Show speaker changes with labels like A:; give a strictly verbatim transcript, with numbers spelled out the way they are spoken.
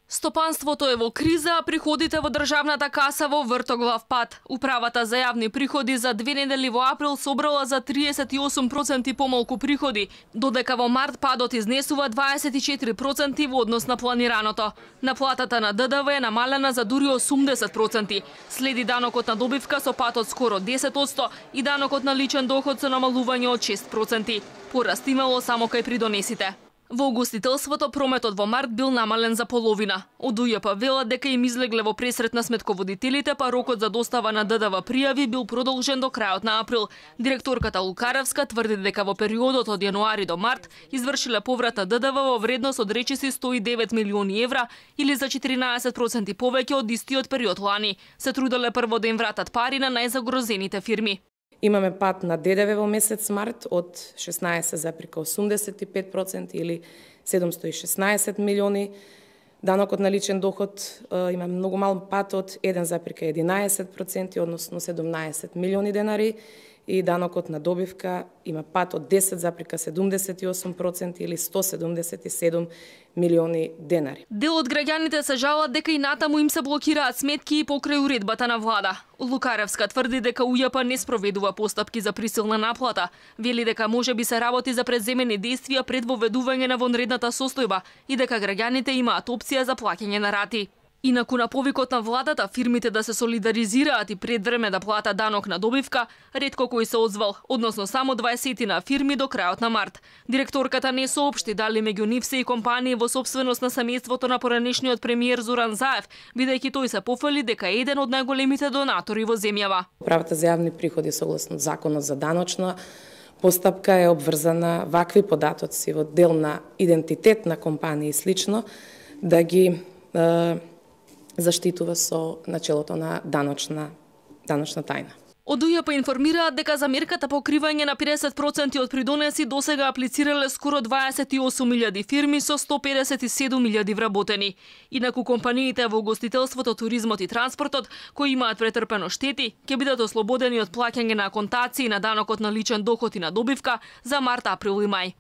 A: Стопанството е во криза, а приходите во државната каса во вртоглав пат. Управата за јавни приходи за две недели во април собрала за триесет и осум проценти помалку приходи, додека во март падот изнесува дваесет и четири проценти во однос на планираното. Наплатата на Д Д В е намалена за дури осумдесет проценти. Следи данокот на добивка со пат од скоро десет одсто и данокот на личен доход со намалување од шест проценти. Пораст имало само кај придонесите. Во угостителството прометот во март бил намален за половина. Од У Ј П велат дека им излегле во пресрет на сметководителите, па рокот за достава на Д Д В пријави бил продолжен до крајот на април. Директорката Лукаревска тврди дека во периодот од јануари до март извршиле поврат на Д Д В во вредност од речиси сто и девет милиони евра или за четиринаесет проценти повеќе од истиот период лани. Се труделе прво да им вратат пари на најзагрозените фирми.
B: Имаме пат на Д Д В во месец март од шеснаесет зарез осумдесет и пет проценти или седумсто и шеснаесет милиони. Данокот на личен доход има многу мал пат од еден зарез единаесет проценти, односно седумнаесет милиони денари, и данокот на добивка има пат од десет зарез седумдесет и осум проценти или сто седумдесет и седум милиони денари.
A: Дел од граѓаните се жалат дека и натаму им се блокираат сметки и покрај уредбата на влада. Лукаревска тврди дека У Ј П не спроведува постапки за присилна наплата. Вели дека може би се работи за предземени действија пред воведување на вонредната состојба и дека граѓаните имаат опција за плаќање на рати. Инаку на повикот на владата фирмите да се солидаризираат и пред време да платат данок на добивка, ретко кој се озвал, односно само дваесет фирми до крајот на март. Директорката не соопшти дали меѓу нив се и компании во сопственост на семејството на поранешниот премиер Зоран Заев, бидејќи тој се пофали дека е еден од најголемите донатори во земјава.
B: Управата за јавни приходи согласно законот за даночна постапка е обврзана вакви податоци во дел на идентитет на компании и слично да ги е, заштитува со начелото на даночна, даночна тајна.
A: Од У Ј П информираат дека за мерката покривање на педесет проценти од придонеси досега аплицирале скоро дваесет и осум илјади фирми со сто педесет и седум илјади вработени. Инаку компаниите во угостителството, туризмот и транспортот кои имаат претрпено штети ќе бидат ослободени од плаќање на контации на данокот на личен доход и на добивка за март, април и мај.